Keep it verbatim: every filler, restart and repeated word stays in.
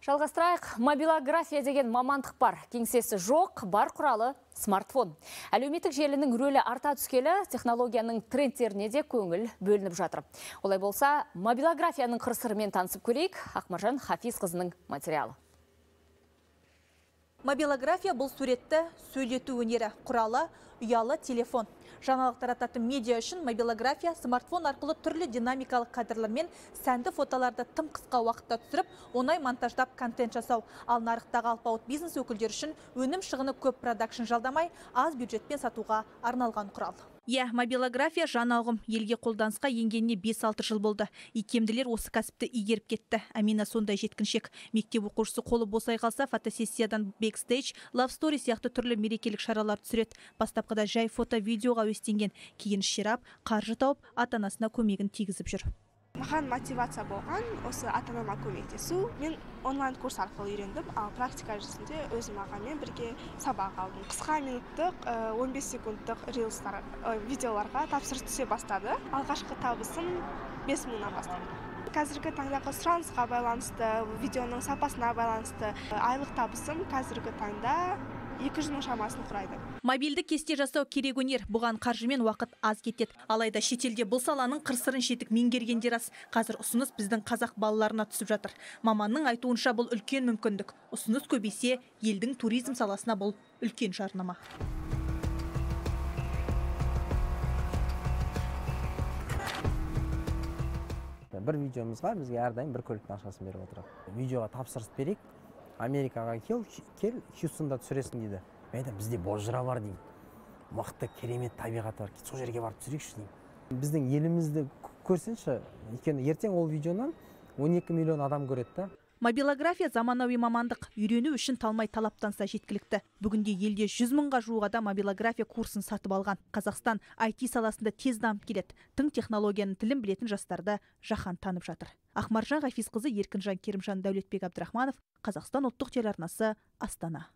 Жалғастырайық, мобилография деген мамандық бар. Кеңсесі жоқ, бар құралы смартфон. Әлеуметтік желінің рөлі арта түскелі, технологияның трендтеріне де көңіл бөлініп жатыр. Олай болса, мобилографияның қыр-сырымен танысып көрейік. Ақмаржан Хафизқызының материалы. Мобилография бұл суретті сөйлету өнері, құралы ұялы телефон. Жаңалық тарататын медиа үшін мобилография смартфон арқылы түрлі динамикалық кадрлар мен сәнді фотоларды тым қысқа уақытта түсіріп, оңай монтаждап контент жасау. Ал нарықтағы алпауыт бизнес өкілдері үшін өнім шығыны көп продакшн жалдамай, аз бюджетпен сатуға арналған құрал. Иә, мобилография жаңа ұғым. Елге қолданысқа енгеніне бес алты жыл болды. Икемділер осы кәсіпті игеріп кетті. Әмина сондай жеткіншек. Мектеп оқушысы қолы босай қалса, фотосессиядан бэкстейдж, лав стори сияқты түрлі мерекелік шаралар түсіреді. Бастапқыда жай фото-видеоға өстенген, кейін ширап, қаржы тауып, ата-анасына көмегін тигізіп жүр. Маған мотивация болған, осы ата-анама көмектесу. Мен онлайн курс арқылы үйрендім, ал практика жүзінде өзім ағамен бірге сабақ алдым. Қысқа минуттық, он бес секундтық рилстар, видеоларға тапсырыс түсе бастады. Алғашқы табысым бес мыңнан бастады. Қазіргі таңдағы сұранысқа байланысты, видеоның сапасына байланысты, айлық табысым қазіргі таңда екі жүз мың шамасын құрайды. Мобильді кесте жасау керек өнер. Бұған қаржымен уақыт аз кетеді. Алайда шетелде бұл саланың қыр-сырын жетік меңгергендер аз. Қазір ұсыныс біздің қазақ балаларына түсіп жатыр. Маманның айтуынша бұл үлкен мүмкіндік. Ұсыныс көбейсе, елдің туризм саласына бұл үлкен жарнама. Бір видеомызға бізге әрдайым бір көліктің ақшасын беріп отырады. Видеоға тапсырыс берейік, Америкаға кел, кел, Хьюстонда түсіресің дейді. Мен айтамын, бізде бозжыра бар деймін. Мықты, керемет табиғаты бар. Сол жерге барып түсірейікші деймін. Біздің елімізді көрсінші, өйткені ертең ол видеонан он екі миллион адам көреді. Мобилография заманауи мамандық. Үйрену үшін талмай талаптанса жеткілікті. Бүгінде елде жүз мыңға жуық адам мобилография курсын сатып алған. Қазақстан ай ти саласында тез дамып келеді. Тың технологияның тілін білетін жастарды жаһан танып жатыр. Ақмаржан Хафизқызы, Еркінжан Керімжан, Дәулетбек Абдрахманов, Қазақстан ұлттық телеарнасы, Астана.